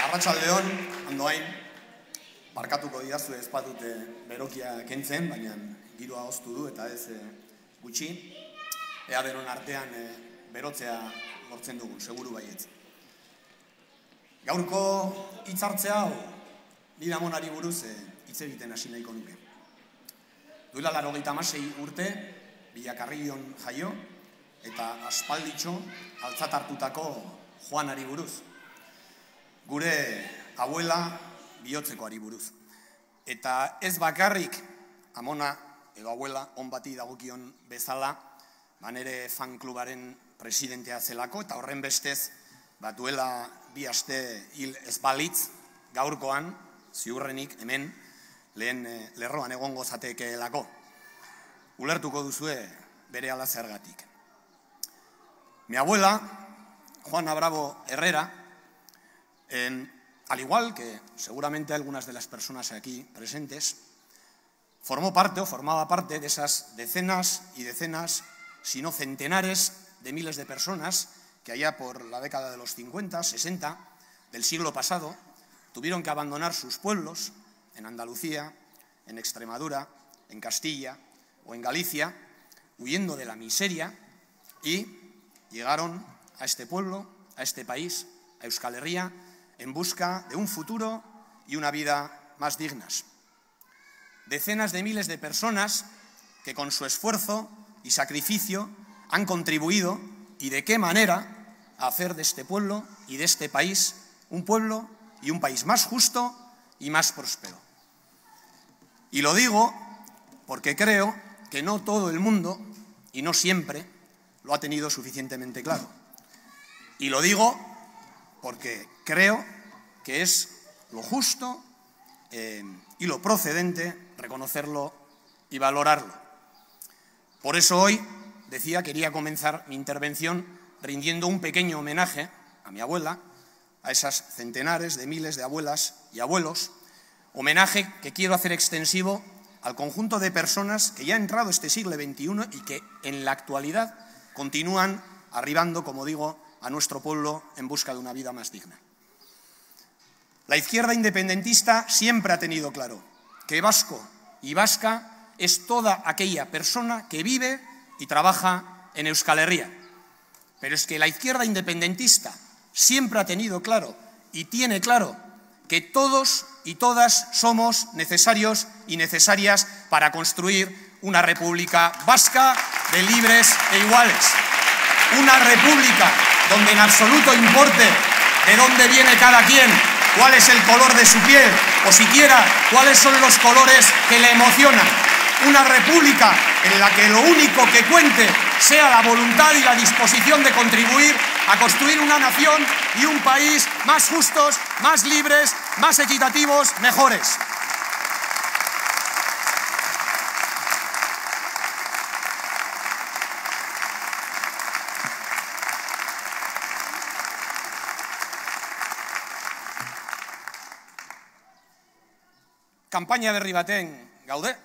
Arratsaldeon, ondoain, barkatuko didazue ez badute berokia kentzen, baina giroa hoztu du eta ez gutxi. Ea denon artean berotzea lortzen dugun, seguru baietz. Gaurko hitzartzea hau, nire amonari buruz hitz egiten hasi nahiko nuke. Duela 96 urte, Bilakarrion jaio, eta aspalditxo altzat hartutako Juanari buruz. Gure abuela bihotzekoari buruz. Eta ez bakarrik amona edo abuela on bati dagokion bezala, nere fanklubaren presidentea zelako, eta horren bestez, duela 2 aste hil ez balitz, gaurkoan, ziurrenik hemen, lehen lerroan egongo zatekeelako. Ulertuko duzue bere ala zergatik. Mi abuela, Juana Bravo Herrera, al igual que seguramente algunas de las personas aquí presentes, formaba parte de esas decenas y decenas, si no centenares de miles de personas que allá por la década de los 50, 60 del siglo pasado tuvieron que abandonar sus pueblos en Andalucía, en Extremadura, en Castilla o en Galicia, huyendo de la miseria, y llegaron a este pueblo, a este país, a Euskal Herria, en busca de un futuro y una vida más dignas. Decenas de miles de personas que con su esfuerzo y sacrificio han contribuido, y de qué manera, a hacer de este pueblo y de este país un pueblo y un país más justo y más próspero. Y lo digo porque creo que no todo el mundo, y no siempre, lo ha tenido suficientemente claro. Y lo digo porque creo que es lo justo y lo procedente reconocerlo y valorarlo. Por eso hoy, quería comenzar mi intervención rindiendo un pequeño homenaje a mi abuela, a esas centenares de miles de abuelas y abuelos, homenaje que quiero hacer extensivo al conjunto de personas que ya ha entrado este siglo XXI y que en la actualidad continúan arribando, como digo, a nuestro pueblo en busca de una vida más digna. La izquierda independentista siempre ha tenido claro que vasco y vasca es toda aquella persona que vive y trabaja en Euskal Herria. Pero es que la izquierda independentista siempre ha tenido claro y tiene claro que todos y todas somos necesarios y necesarias para construir una república vasca de libres e iguales. Una república donde en absoluto importe de dónde viene cada quien, cuál es el color de su piel o siquiera cuáles son los colores que le emocionan. Una república en la que lo único que cuente sea la voluntad y la disposición de contribuir a construir una nación y un país más justos, más libres, más equitativos, mejores. Kanpaina berri baten gaude,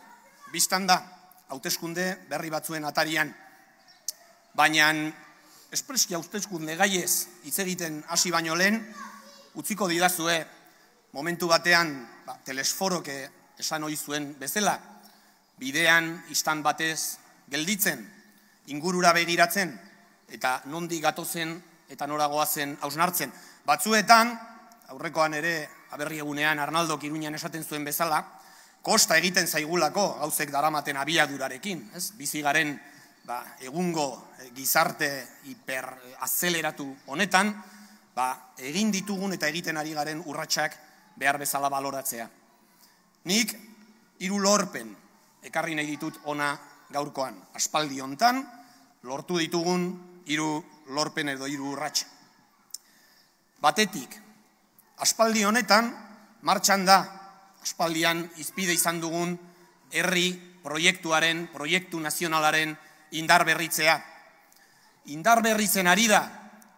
biztan da, hauteskunde berri batzuen atarian. Baina, espreski hauteskunde gaiez hitz egiten hasi baino lehen, utziko didazue momentu batean telesforok esan ohi zuen bezala, bidean istan batez gelditzen, ingurura begiratzen, eta nondik gatozen eta nora goazen hausnartzen. Batzuetan, aurrekoan ere aberri egunean Arnaldok Iruñan esaten zuen bezala, kosta egiten zaigulako gauzek daramaten abiadurarekin. Bizi garen egungo gizarte hiperazeleratu honetan, egin ditugun eta egiten ari garen urratsak behar bezala baloratzea. Nik 3 lorpen ekarri nahi ditut ona gaurkoan. Aspaldi hontan lortu ditugun 3 lorpen edo 3 urrats. Batetik, aspaldi honetan martxan da, aspaldian izpide izan dugun herri proiektuaren, proiektu nazionalaren indar berritzea. Indar berritzen ari da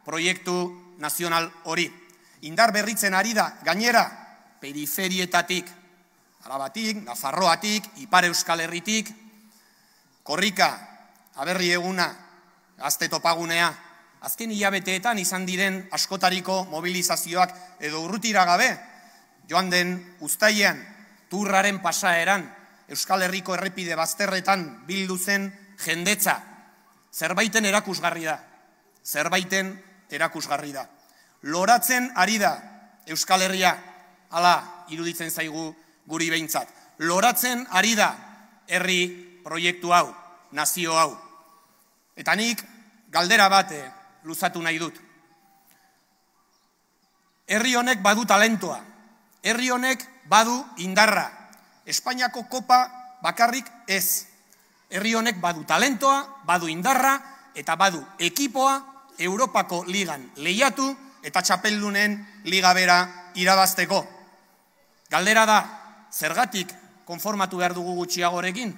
proiektu nazional hori. Indar berritzen ari da gainera periferietatik, Arabatik, Nafarroatik, Ipar Euskal Herritik, Korrika, Aberri Eguna, Gazte Topagunea, azken hilabeteetan izan diren askotariko mobilizazioak edo urrutira gabe, joan den uztailean, Turraren pasaeran, Euskal Herriko errepide bazterretan bildu zen jendetza, zerbaiten erakusgarri da, zerbaiten erakusgarri da. Loratzen ari da Euskal Herria, hala iruditzen zaigu guri behintzat. Loratzen ari da herri proiektu hau, nazio hau. Eta nik galdera bat luzatu nahi dut. Herri honek badu talentoa, herri honek badu indarra. Espainiako kopa bakarrik ez. Herri honek badu talentoa, badu indarra eta badu ekipoa Europako ligan lehiatu eta txapeldunen liga bera irabazteko. Galdera da, zergatik konformatu behar dugu gutxiagorekin?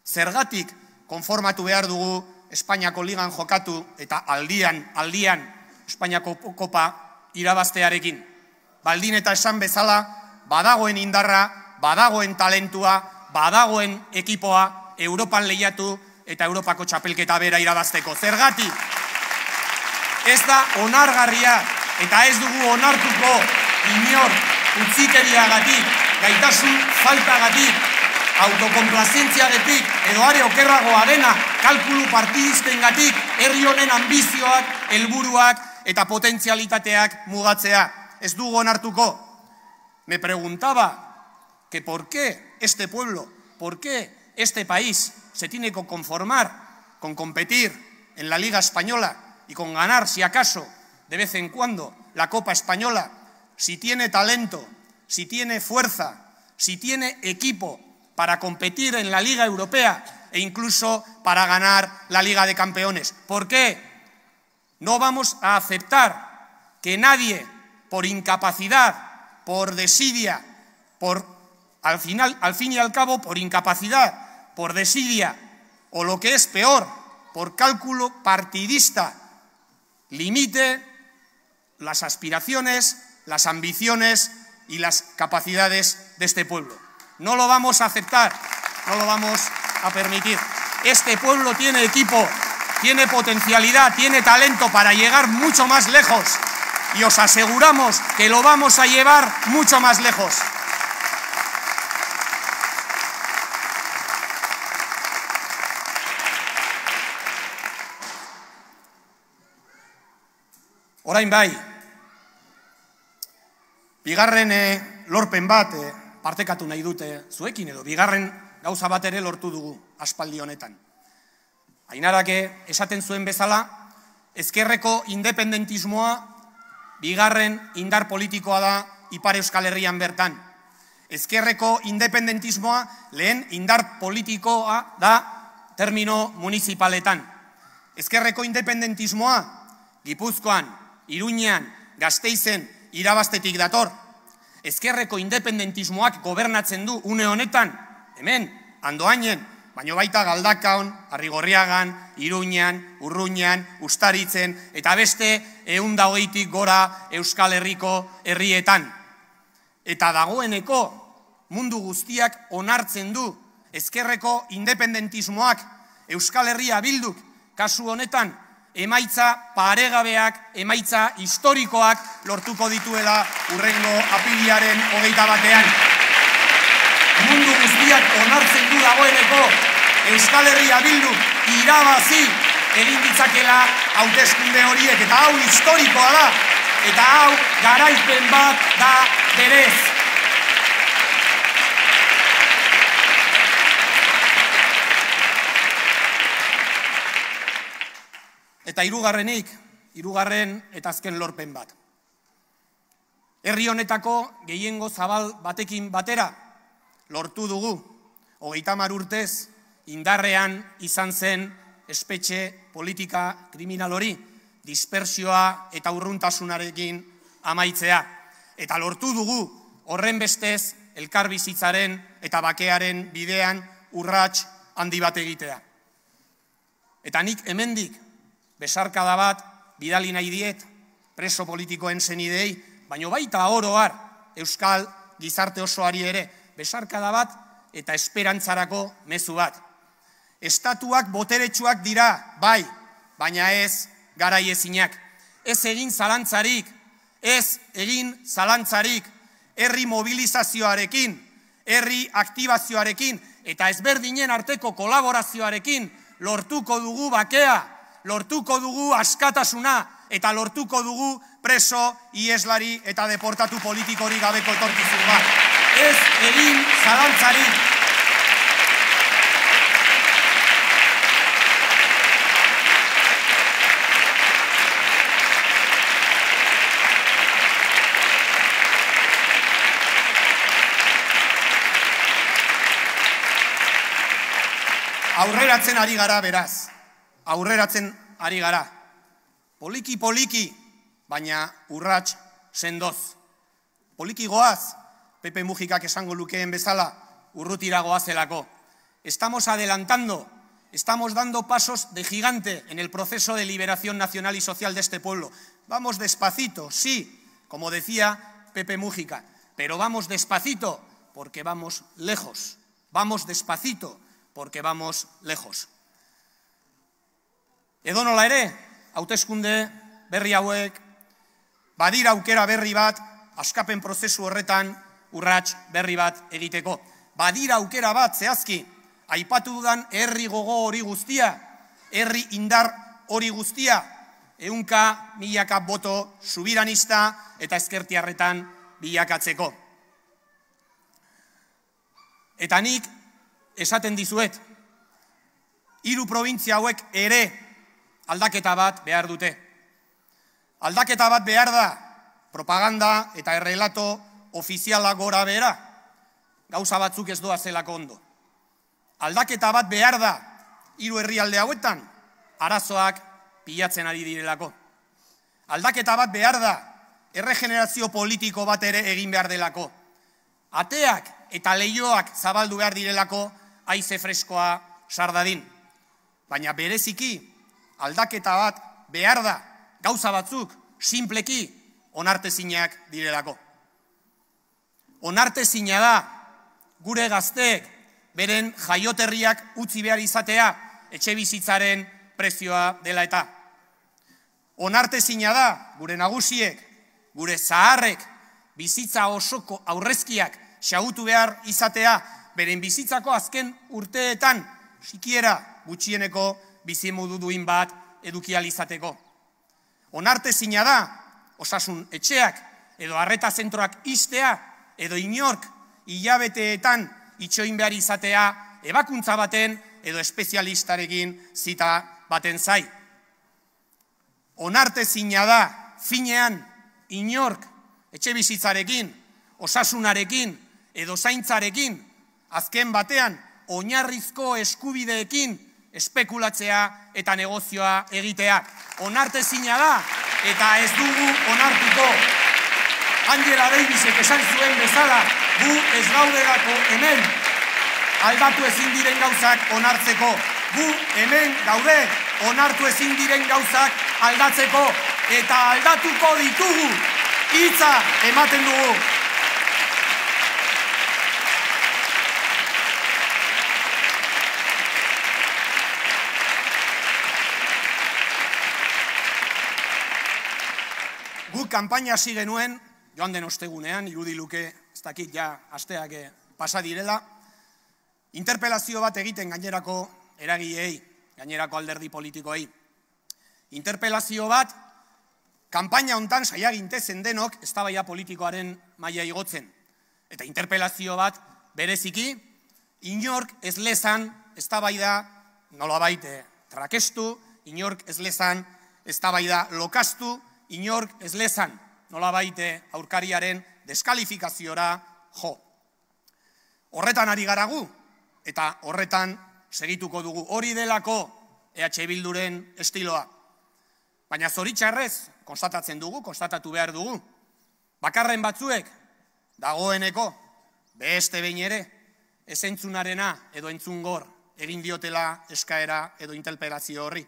Zergatik konformatu behar dugu Espainiako ligan jokatu eta aldian Espainiako kopa irabaztearekin? Baldin eta esan bezala, badagoen indarra, badagoen talentua, badagoen ekipoa Europan lehiatu eta Europako txapelketa bera irabazteko. Zergatik? Ez da onargarria eta ez dugu onartuko inor utzikeriagatik, gaitasun faltagatik, autokonplazentziagatik edo are okerragoa dena kalkulu partidistengatik herri honen ambizioak, helburuak eta potentzialitateak mugatzea. Ez dugu onartuko. Me preguntaba que por qué este pueblo, por qué este país se tiene que conformar con competir en la Liga Española y con ganar, si acaso, de vez en cuando, la Copa Española, si tiene talento, si tiene fuerza, si tiene equipo para competir en la Liga Europea e incluso para ganar la Liga de Campeones. ¿Por qué? No vamos a aceptar que nadie, por incapacidad, por desidia, al fin y al cabo, por incapacidad, por desidia, o lo que es peor, por cálculo partidista, limite las aspiraciones, las ambiciones y las capacidades de este pueblo. No lo vamos a aceptar, no lo vamos a permitir. Este pueblo tiene equipo, tiene potencialidad, tiene talento para llegar mucho más lejos y os aseguramos que lo vamos a llevar mucho más lejos. Orain bai, bigarren lorpen bat partekatu nahi dute zuekin edo bigarren gauza bat ere lortu dugu aspaldi honetan. Ainarak esaten zuen bezala, ezkerreko independentismoa bigarren indar politikoa da Ipar Euskal Herrian bertan. Ezkerreko independentismoa lehen indar politikoa da termino municipaletan. Ezkerreko independentismoa Gipuzkoan, Iruñean, Gasteizen irabaztetik dator. Ezkerreko independentismoak gobernatzen du une honetan, hemen, Andoainen, baino baita Galdakaon, Arrigorriagan, Iruñean, Urruñan, Ustaritzen, eta beste 120 gora Euskal Herriko herrietan. Eta dagoeneko mundu guztiak onartzen du ezkerreko independentismoak Euskal Herria bilduk kasu honetan emaitza paregabeak, emaitza historikoak lortuko dituela hurrengo apiriaren 21. Mundu guztiak onartzen du dagoeneko Euskal Herria bilduk irabazi egin ditzakela hauteskunde horiek, eta hau historikoa da, eta hau garaipen bat da berez. Eta hirugarren eta azken lorpen bat. Herri honetako gehiengo zabal batekin batera lortu dugu, 30 urtez indarrean izan zen espetxe politika kriminal hori, dispersioa eta urruntasunarekin amaitzea. Eta lortu dugu horren bestez elkarbizitzaren eta bakearen bidean urrats handi bat egitea. Eta nik hemendik besarkada bat bidali nahi diet preso politikoen senidei, baino baita oro har euskal gizarte osoari ere besarkada bat eta esperantzarako mezu bat. Estatuak boteretsuak dira, bai, baina ez garaiezinak. Ez egin zalantzarik, herri mobilizazioarekin, herri aktibazioarekin, eta ezberdinen arteko kolaborazioarekin lortuko dugu bakea, lortuko dugu askatasuna, eta lortuko dugu preso, ieslari eta deportatu politikori gabeko etorkizun bat. Ez egin zalantzarik. Aurreratzen ari gara, beraz. Aurreratzen ari gara. Poliki, baina urrats sendoz. Poliki goaz, Pepe Mujikak esango lukeen bezala, urrutira goazelako. Estamos adelantando, estamos dando pasos de gigante en el proceso de liberación nacional y social de este pueblo. Vamos despacito, sí, como decía Pepe Mujica, pero vamos despacito porque vamos lejos. Vamos despacito porque vamos lejos. Edonola ere, hauteskunde berri hauek, badira aukera berri bat, askapen prozesu horretan urrats berri bat egiteko. Badira aukera bat, zehazki, aipatu dudan herri gogo hori guztia, herri indar hori guztia, 100 milaka boto subiranista eta ezkertiarretan bilakatzeko. Eta nik esaten dizuet, 3 probintzia hauek ere aldaketa bat behar dute. Aldaketa bat behar da, propaganda eta errelato ofiziala gora behera, gauza batzuk ez doa zelako ondo. Aldaketa bat behar da, 3 herrialde hauetan, arazoak pilatzen ari direlako. Aldaketa bat behar da, erregenerazio politiko bat ere egin behar delako. Ateak eta leihoak zabaldu behar direlako, haize freskoa sardadin. Baina bereziki, aldaketa bat behar da, gauza batzuk, sinpleki, onartezinak direlako. Onartezina da, gure gazteek, beren jaioterriak utzi behar izatea, etxe bizitzaren prezioa dela eta. Onartezina da, gure nagusiek, gure zaharrek, bizitza osoko aurrezkiak xahutu behar izatea, beren bizitzako azken urteetan, sikiera gutxieneko bizimodu duin bat edukial izateko. Onartezina da, osasun etxeak edo arreta zentroak ixtea, edo inork hilabeteetan itxoin behar izatea, ebakuntza baten edo espezialistarekin zita baten zai. Onartezina da, finean, inork etxe bizitzarekin, osasunarekin edo zaintzarekin, azken batean, oinarrizko eskubideekin espekulatzea eta negozioa egitea. Onartezina da, eta ez dugu onartuko. Angela Davisek esan zuen bezala, gu ez gaudelako hemen, aldatu ezin diren gauzak onartzeko. Gu hemen gaude, onartu ezin diren gauzak aldatzeko, eta aldatuko ditugu, hitza ematen dugu. Guk kanpaina hasi genuen, joan den ostegunean, irudi luke, ez dakit ja asteak pasa direla, interpelazio bat egiten gainerako eragileei, gainerako alderdi politikoei. Interpelazio bat, kanpaina hontan saia gintezen denok eztabaida politikoaren maila igotzen. Eta interpelazio bat bereziki, inork ez lezan eztabaida nolabait trakestu, inork ez lezan eztabaida lokastu, inork ez lezan nolabait aurkariaren deskalifikaziora jo. Horretan ari gara gu, eta horretan segituko dugu. Hori delako EH Bilduren estiloa. Baina zoritxarrez, konstatatzen dugu, konstatatu behar dugu. Bakarren batzuek, dagoeneko, beste behin ere, ez entzunarena edo entzungor egin diotela eskaera edo interpelazio horri.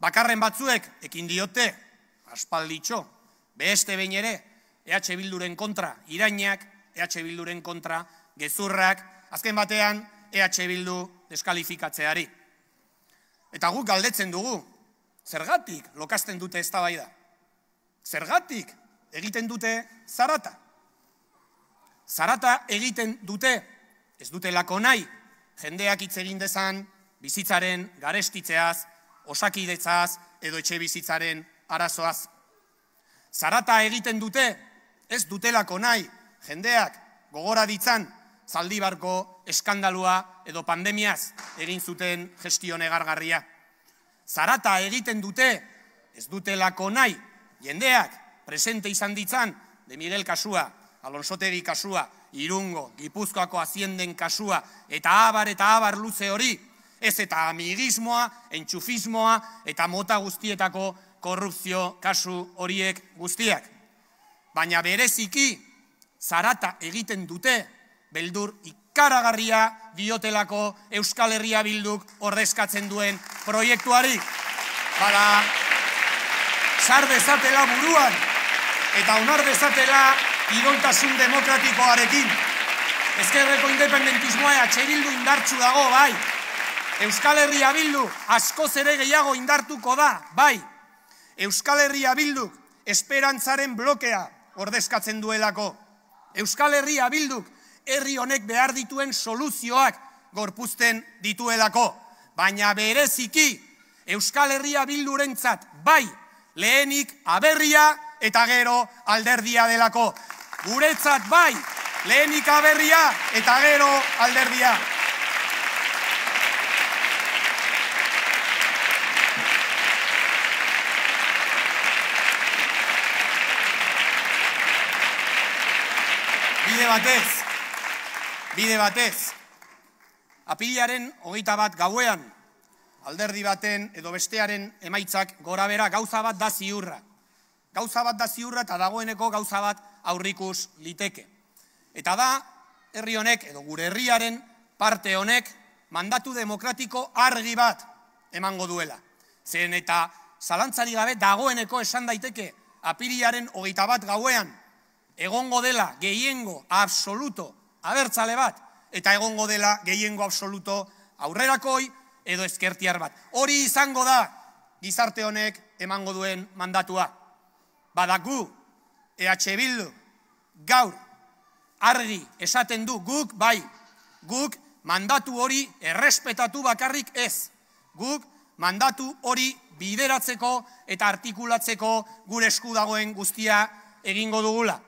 Bakarren batzuek ekin diote, aspalditxo, beste behin ere, EH Bilduren kontra irainak, EH Bilduren kontra gezurrak, azken batean EH Bildu deskalifikatzeari. Eta guk galdetzen dugu, Zergatik lokasten dute eztabaida? Zergatik egiten dute zarata? Zarata egiten dute, ez dutelako nahi, jendeak hitz egin dezan bizitzaren garestitzeaz, osakidetzaz edo etxe bizitzaren arazoaz. Zarata egiten dute, ez dutelako nahi, jendeak gogora ditzan Zaldibarko eskandalua edo pandemiaz egin zuten gestio negargarria. Zarata egiten dute, ez dutelako nahi, jendeak presente izan ditzan De Miguel kasua, Alonsotegi kasua, Irungo, Gipuzkoako Hazienden kasua, eta abar luze hori, ez eta amigismoa, entxufismoa, eta mota guztietako korrupzio kasu horiek guztiak. Baina bereziki, zarata egiten dute, beldur ikaragarria diotelako Euskal Herria Bilduk ordezkatzen duen proiektuari. Bada, sar dezatela buruan, eta onar dezatela idontasun demokratikoarekin. Ezkerreko independentismoa EH Bildu indartsu dago, bai. Euskal Herria Bildu askoz ere gehiago indartuko da, bai. Euskal Herria Bilduk esperantzaren blokea ordezkatzen duelako. Euskal Herria Bilduk herri honek behar dituen soluzioak gorpuzten dituelako. Baina bereziki Euskal Herria Bildurentzat bai lehenik aberria eta gero alderdia delako. Guretzat bai lehenik aberria eta gero alderdia. Bide batez, apirilaren 21 gauean, alderdi baten edo bestearen emaitzak gora bera gauza bat da ziurra. Gauza bat da ziurra eta dagoeneko gauza bat aurrikus liteke. Eta da, herri honek edo gure herriaren parte honek mandatu demokratiko argi bat emango duela. Zen eta zalantzari gabe dagoeneko esan daiteke apirilaren 21 gauean egongo dela gehiengo absoluto abertzale bat, eta egongo dela gehiengo absoluto aurrerakoi edo ezkertiar bat. Hori izango da gizarte honek emango duen mandatua. Badaku, EH Bildu gaur argi esaten du guk bai, guk mandatu hori errespetatu bakarrik ez. Guk mandatu hori bideratzeko eta artikulatzeko gure esku dagoen guztia egingo dugula.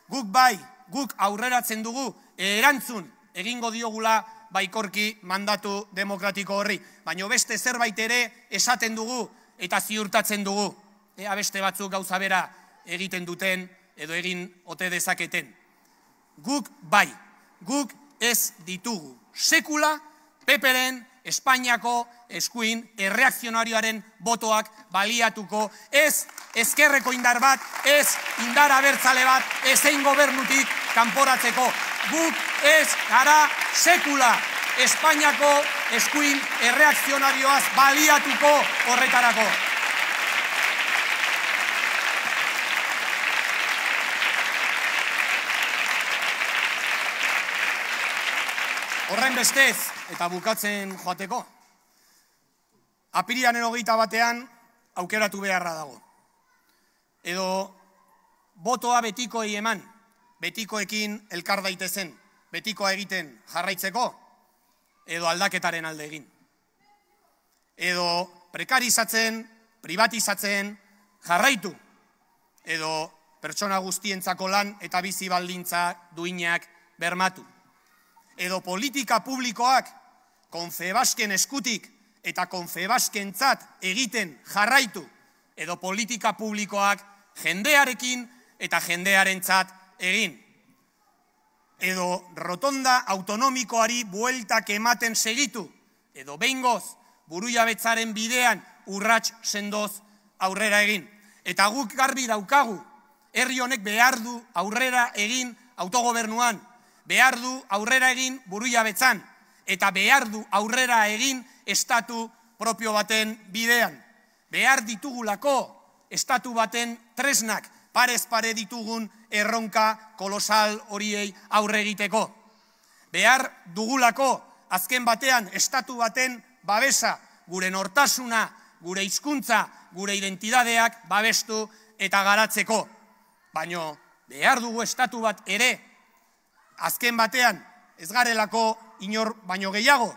Guk bai, guk aurreratzen dugu, erantzun egingo diogula baikorki mandatu demokratiko horri. Baina beste zerbait ere esaten dugu eta ziurtatzen dugu. Ea beste batzuk gauza bera egiten duten edo egin ote dezaketen. Guk bai, guk ez ditugu. Sekula PPren Espainiako eskuin erreakzionarioaren botoak baliatuko, ez ezkerreko indar bat, ez indar abertzale bat, ezein gobernutik kanporatzeko. Guk ez gara sekula Espainiako eskuin erreakzionarioaz baliatuko horretarako. Horren bestez, eta bukatzen joateko, apirilaren 21 aukeratu beharra dago. Edo botoa betikoei eman, betikoekin elkar daitezen, betikoa egiten jarraitzeko, edo aldaketaren alde egin. Edo prekarizatzen, privatizatzen jarraitu, edo pertsona guztientzako lan eta bizi baldintza duinak bermatu. Edo politika publikoak Confebasken eskutik eta Confebaskentzat egiten jarraitu, edo politika publikoak jendearekin eta jendearentzat egin. Edo rotonda autonomikoari bueltak ematen segitu, edo behingoz burujabetzaren bidean urrats sendoz aurrera egin. Eta guk garbi daukagu, herri honek behar du aurrera egin autogobernuan, behar du aurrera egin burujabetzan, eta behar du aurrera egin estatu propio baten bidean. Behar ditugulako estatu baten tresnak, parez pare ditugun erronka kolosal horiei aurre egiteko. Behar dugulako azken batean estatu baten babesa, gure nortasuna gure hizkuntza, gure identidadeak babestu eta garatzeko. Baina behar dugu estatu bat ere, azken batean ez garelako inor baino gehiago,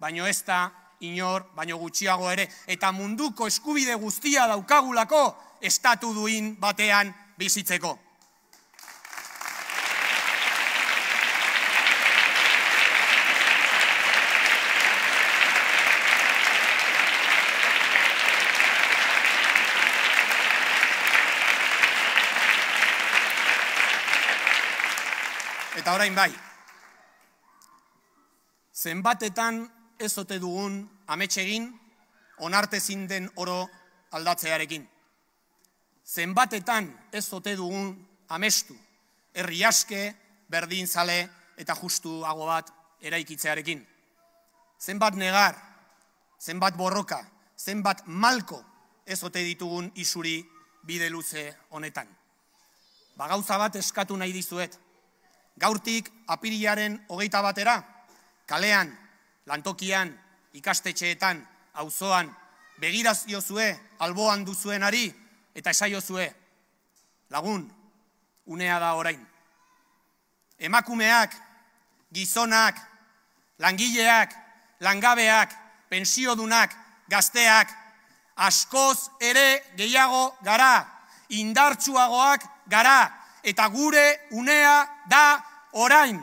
baino ez da inor baino gutxiago ere, eta munduko eskubide guztia daukagulako estatu duin batean bizitzeko. Eta orain bai, zenbatetan ez ote dugun amets egin onartezin den oro aldatzearekin. Zenbatetan ez ote dugun amestu herri aske, berdinzale eta justuago bat eraikitzearekin. Zenbat negar, zenbat borroka, zenbat malko ez ote ditugun isuri bide luze honetan. Gauza bat eskatu nahi dizuet. Gaurtik apirilaren 21 batera, kalean, lantokian, ikastetxeetan, auzoan, begiraziozue, alboan duzuenari, eta esaiozue, lagun, unea da orain. Emakumeak, gizonak, langileak, langabeak, pensiodunak, gazteak, askoz ere gehiago gara, indartsuagoak gara, eta gure unea da orain.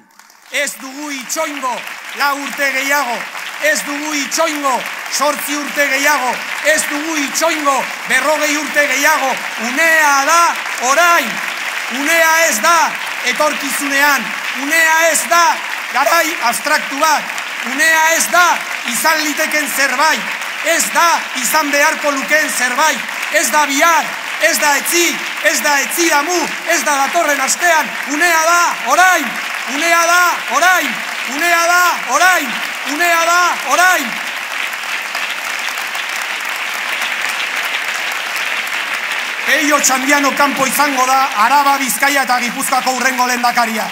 Ez dugu itxoingo 4 urte gehiago, ez dugu itxoingo 8 urte gehiago, ez dugu itxoingo 40 urte gehiago. Unea da orain. Unea ez da etorkizunean, unea ez da garai abstraktu bat, unea ez da izan liteken zerbait, ez da izan beharko lukeen zerbait, ez da bihar, ez da etzi, ez da etzi damu, ez da datorren astean, unea da orain, unea da orain, unea da orain, unea da orain. Peio Txandiano kanpo izango da Araba, Bizkaia eta Gipuzkoako hurrengo lehendakaria.